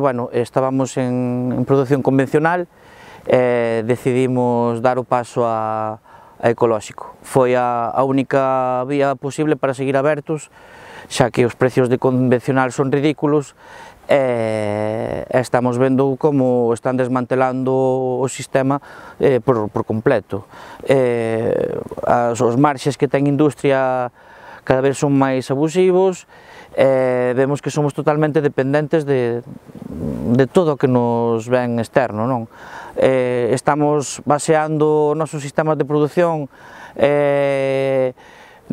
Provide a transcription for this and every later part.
Bueno, estábamos en producción convencional e decidimos dar o paso a ecolóxico. Foi a única vía posible para seguir abertos, xa que os precios de convencional son ridículos e estamos vendo como están desmantelando o sistema por completo. Os marxes que ten industria cada vez son máis abusivos, vemos que somos totalmente dependentes de todo o que nos ven externo, non? Estamos baseando os nosos sistemas de produción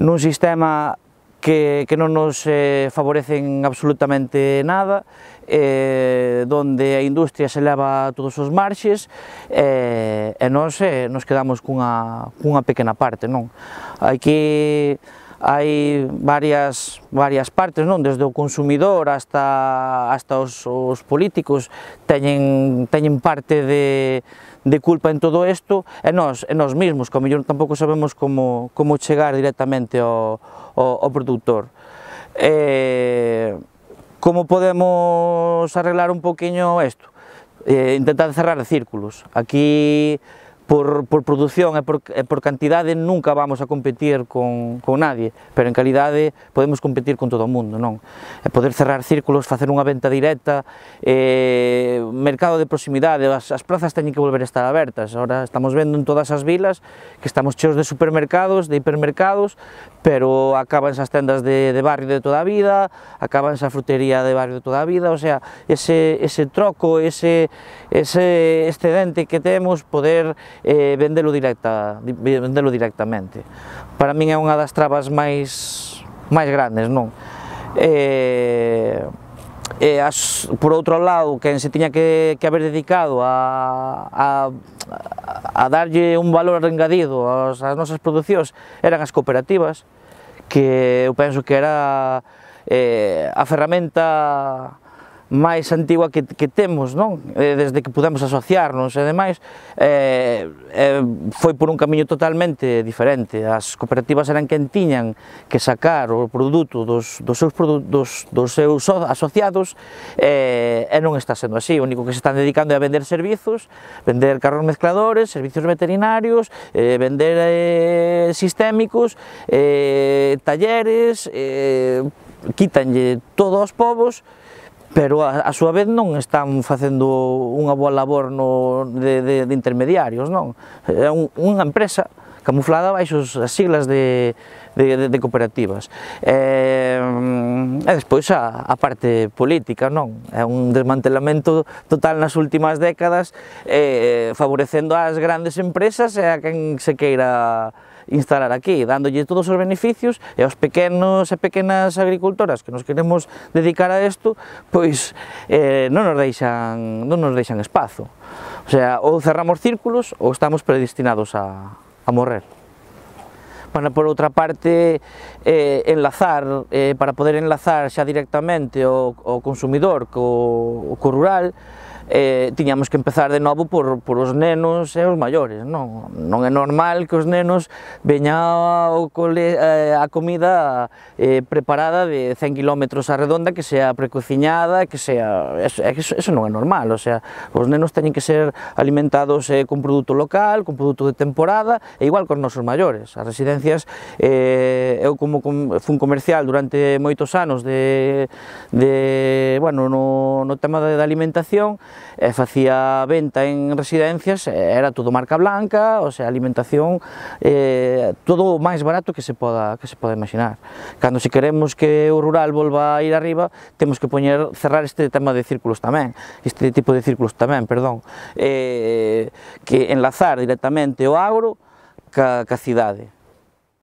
nun sistema que non nos favorecen absolutamente nada, donde a industria se leva todos os marxes e nós nos quedamos cunha pequena parte, non? Hai varias partes, non? Desde o consumidor hasta os políticos teñen parte de culpa en todo isto, e nós mesmos, que ao mellor tampouco sabemos como chegar directamente ao produtor. Como podemos arreglar un poquinho isto? Intentar cerrar círculos. Aquí, por produción e por cantidade, nunca vamos a competir con nadie, pero en calidade podemos competir con todo o mundo, non? Poder cerrar círculos, facer unha venta directa, mercado de proximidade, as plazas teñen que volver a estar abertas. Ahora estamos vendo en todas as vilas que estamos cheos de supermercados, de hipermercados, pero acabanse as tendas de barrio de toda a vida, acabanse a frutería de barrio de toda a vida, o sea, ese troco, ese excedente que temos, poder vendelo directamente. Para min é unha das trabas máis grandes, non? Por outro lado, quen se tiña que haber dedicado a darlle un valor engadido ás nosas producións eran as cooperativas, que eu penso que era a ferramenta máis antigua que temos, non? Desde que pudemos asociarnos e demais, foi por un camiño totalmente diferente. As cooperativas eran quen tiñan que sacar o produto dos seus asociados e non está sendo así. O único que se están dedicando é a vender servizos, vender carros mezcladores, servicios veterinarios, vender sistémicos, talleres, quítanlle todo aos povos, pero a súa vez non están facendo unha boa labor de intermediarios, non? É unha empresa camuflada baixo as siglas de cooperativas. E despois a parte política, non? É un desmantelamento total nas últimas décadas, favorecendo ás grandes empresas e a quen se queira instalar aquí, dándolle todos os beneficios, e aos pequenos e pequenas agricultoras que nos queremos dedicar a isto, pois non nos deixan espazo. O sea, ou cerramos círculos ou estamos predestinados a morrer. Bueno, por outra parte, enlazar, para poder enlazar xa directamente o consumidor co rural, tiñamos que empezar de novo por os nenos e os maiores, non? Non é normal que os nenos veñan a comida preparada de 100 km a redonda, que sea precociñada, que sea... Eso non é normal, o sea, os nenos teñen que ser alimentados con produto local, con produto de temporada, e igual cos nosos maiores. As residencias, eu como fun comercial durante moitos anos no tema da alimentación, facía venta en residencias, era todo marca blanca, o sea, alimentación, todo o máis barato que se poda imaginar. Cando se queremos que o rural volva a ir arriba, temos que cerrar este tema de círculos tamén, este tipo de círculos tamén, perdón, que enlazar directamente o agro ca cidade.